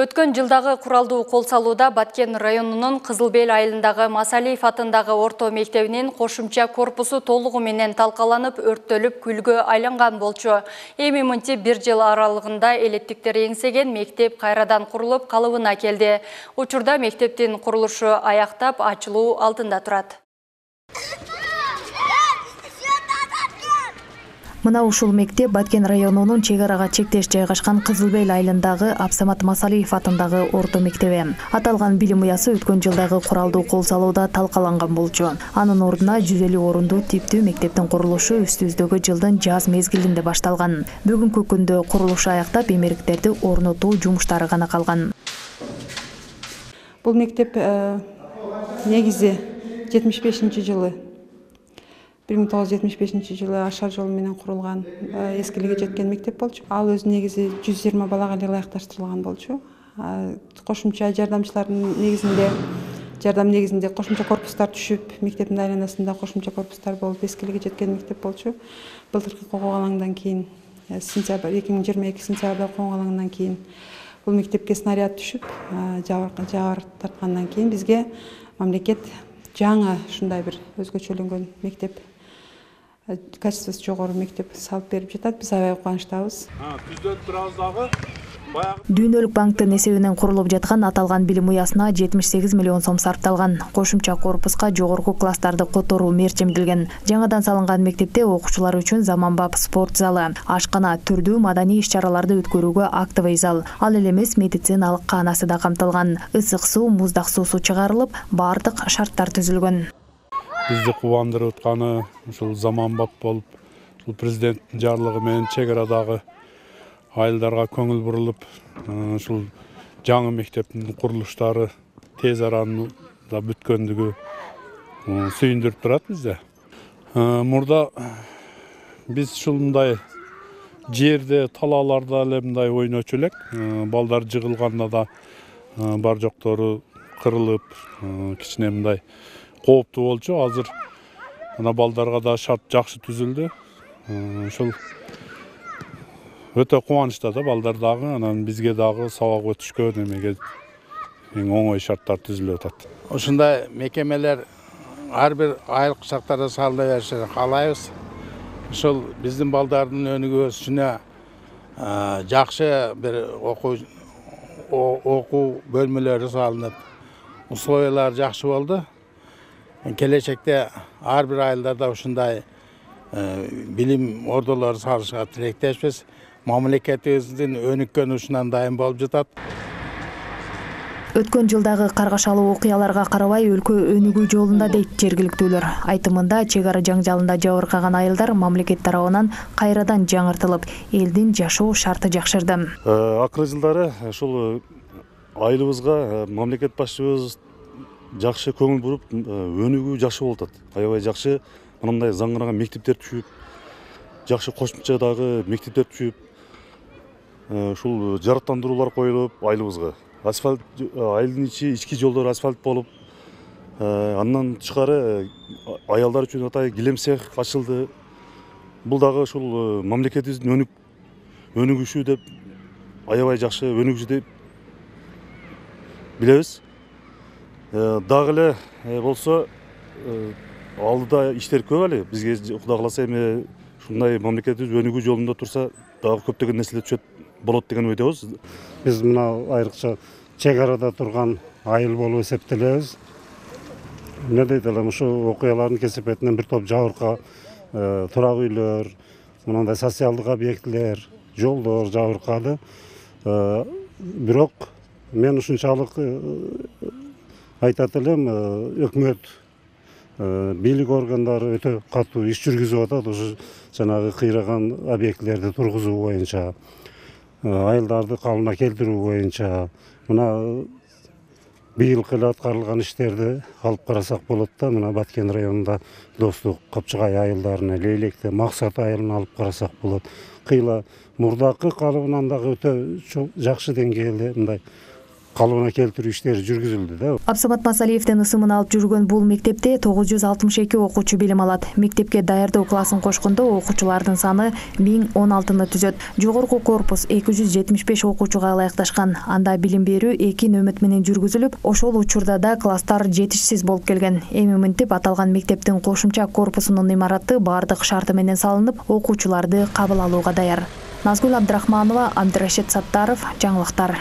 Өткөн жылдагы куралдуу кол салууда Баткен районунун Кызылбел айылындагы Масалиев атындагы орто мектебинин кошумча корпусу толугу менен талкаланып, өрттөлүп, күлгө айланган болчу. Эми мынтип бир жыл аралыгында элеттиктер эңсеген мектеп кайрадан курулуп, калыбына келди. Учурда мектептин курулушу аяктап, ачылуу алдында турат. Мына ушул мектеп Баткен районунун чек арага чектеш жайгашкан Кызылбел айылындагы Абсамат Масалиев атындагы орто мектеби. Аталган билим уясы өткөн жылдагы куралдуу кол салууда талкаланган болчу. Анын ордуна 150 орундуу типтүү мектептин курулушу үстүбүздөгү жылдын жаз мезгилинде башталган. Бүгүнкү күндө курулушу аяктап, эмеректерди орнотуу жумуштары гана калган. Бул мектеп негизи 75-жылы 1975 жылы ашар жолу менен курулган, эскилиги жеткен мектеп болчу. Ал өз негизи 120 балага ылайыкташтырылган болчу. Кошумча жардамчылардын негизинде кошумча корпустар түшүп, мектептин айланасында кошумча корпустар болуп, эскилиги жеткен мектеп болчу. Былтыркы коголаңдан кийин, 2022 сентябрда коголаңдан кийин бул мектепке снаряд түшүп, жабыр тарткандан кийин бизге мамлекет жаңы ушундай бир өзгөчөлөнгөн мектеп, качествосу жогору мектеп салып берип жатат. Биз аябай кубанычтабыз. Дүйнөлүк банктын эсебинен курулуп жаткан аталган билим уясына 78 миллион сом сарпталган. Кошумча корпуска жогорку класстарды которуу мерчимдилген. Жаңадан салынган мектепте окуучулар үчүн заманбап спорт залы, ашкана, түрдүү маданий иш-чараларды өткөрүүгө актовый зал, ал эле эмес медициналык каанасы да камтылган. Ысык суу, муздак суусу чыгарылып, бардык шарттар түзүлгөн. Бизди кубандырып атканы ушул заманбап болуп, ушул президенттин жарлыгы менен чек арадагы айылдарга көңүл бурулуп, ушул жаңы мектептин курулуштары тез арада бүткөндүгү сүйүндүрүп турат бизди. Мурда биз ушундай жерде, талааларда эле мындай ойночу элек. Балдар жыгылганда да бар жоктору кырылып, кичине мындай кооптуу болчу. Азыр ана балдарга да шарт жакшы түзүлдү. Ушул өтө кубанычта да балдар дагы, анан бизге дагы сабак өтүшкө немеге эң оңой шарттар түзүлүп атат. Ушундай мекемелер ар бир айыл кышактарда салына беришин каалайбыз. Ушул биздин балдардын өнүгүү өсүшүнө жакшы бир окуу бөлмөлөрү салынып, условиялар жакшы болду. Келечекте ар бир айылдарда ушундай билим ордолору салышка тилектешпиз. Мамлекетибиздин өнүккөн ушунан дайым болуп жатат. Өткөн жылдагы каргашалуу окуяларга карабай өлкө өнүгүү жолунда дейт жергиликтүүлөр. Айтымында чек ара жаңжалында жабыркаган айылдар мамлекет тарабынан кайрадан жаңыртылып, элдин жашоо шарты жакшырды. Акыркы жылдары ушул айылыбызга мамлекет башчыбыз жакшы көңүл буруп, өнүгүү жакшы болуп атат. Аябай жакшы мындай заңгыраган мектептер түшүп, жакшы кошумчадагы мектептер түшүп, ушул жарыктандыруулар коюлуп айылыбызга. Асфальт, айылдын ички жолдор асфальт болуп, андан тышкары аялдар үчүн атай килем цех ачылды. Бул дагы ушул мамлекетибиздин өнүгүшү деп, аябай жакшы өнүгүшү деп билебиз. Дагы эле болсо алдыда иштер көп эле. Бизге Кудай кааласа эми ушундай мамлекетибиз өнүгүү жолунда турса, дагы көптөгөн нерселер түшөт болот деген ойдобуз. Биз мына айрыкча чек арада турган айыл болуп эсептелебиз. Эмне дейт элем, ушу окуялардын кесепетинен бир топ жабырка турак үйлөр, мындай социалдык объектилер, жолдор жабыркады. Бирок мен ушунчалык айтат элем, өкмөт, бийлик органдары өтө катуу иш жүргүзүп атат. Ушу жанагы кыйраган объектилерди тургузуу боюнча, айылдарды калыбына келтирүү боюнча, мына быйылкы эле аткарылган иштерди алып карасак болот да. Мына Баткен районунда Достук, Капчыгай айылдарына, Лейлекте, Максат айылына алып карасак болот. Кыйла мурдакы калыбынан дагы өтө жакшы деңгээлде мындай калыбына келтирүү иштери жүргүзүлдү да. Абсамат Масалиевдин ысымын алып жүргөн бул мектепте 962 окуучу билим алат. Мектепке даярдоо классын кошкондо окуучулардын саны 1016 түзөт. Жогорку корпус 275 окуучуга ылайыкташкан. Анда билим берүү 2 нөмөт менен жүргүзүлүп, ошол учурда да класстар жетишсиз болуп келген. Эми мынтип аталган мектептин кошумча корпусунун имараты баардык шарты менен салынып, окуучуларды кабыл алууга даяр. Назгүл Абдрахманова, Абдрашид Саттаров, жаңылыктар.